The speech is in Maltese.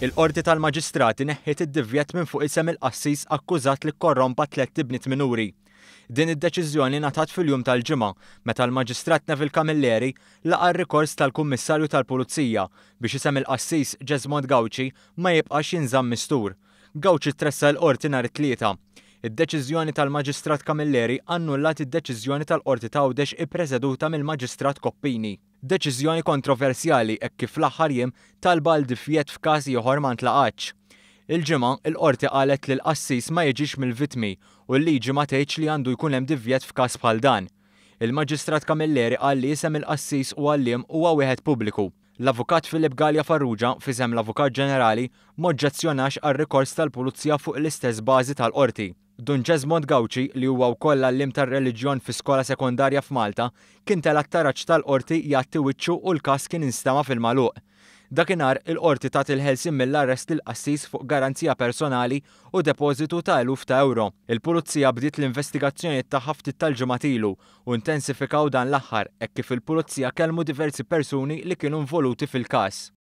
Il-Qorti tal-Maġistrati neħħiet id-divjett minn fuq isem il-qassis akkużat li kkorrompa tlett ibniet minuri. Din id-deċiżjoni ngħatat fil-jum tal-Ġimgħa meta l-Maġistrat Neville Camilleri laqa' r-rikors tal-Kummissarju tal-Pulizija biex isem il-qassis Jesmond Gauci ma jibqax jinżamm mistur. Gauci tressaq il-Qorti nhar it-Tlieta. Id-deċiżjoni tal-Maġistrat Camilleri annullat id-deċiżjoni tal-Qorti t'Għawdex ippreseduta mill-Maġistrat Coppini. Deċiżjoni kontroversjali hekk kif fl-aħħar jiem talba għal divjett f'każ ieħor ma ntlaqgħatx. Il-Ġimgħa, il-Qorti qalet li l-qassis ma jiġix mill-vittmi u l-liġi ma tgħidx li għandu jkun hemm divjett f'każ bħal dan. Il-Maġistrat Camilleri qal li isem il-qassis u għalliem huwa wieħed pubbliku. L-Avukat Philip Galea Farrugia, f'isem l-Avukat Ġenerali, m'oġġezzjonax għar-rikors tal-Pulizija fuq l-istess bażi tal-Qorti. Dun Jesmond Gauci, li huwa wkoll għalliem tar-reliġjon fi skola sekondarja f'Malta, kien tela' t-taraġ tal-Qorti jgħatti wiċċu u l-każ kien instema' fil-magħluq. Dakinhar, il-Qorti tat il-ħelsien mill-arrest lill-qassis fuq garanzija personali u depożitu ta' eluf ta' ewro. Il-Pulizija bdiet l-investigazzjonijiet tagħha ftit tal-ġimgħat ilu u intensifikaw dan l-aħħar hekk kif il-Pulizija kellmu diversi persuni li kienu involuti fil-każ.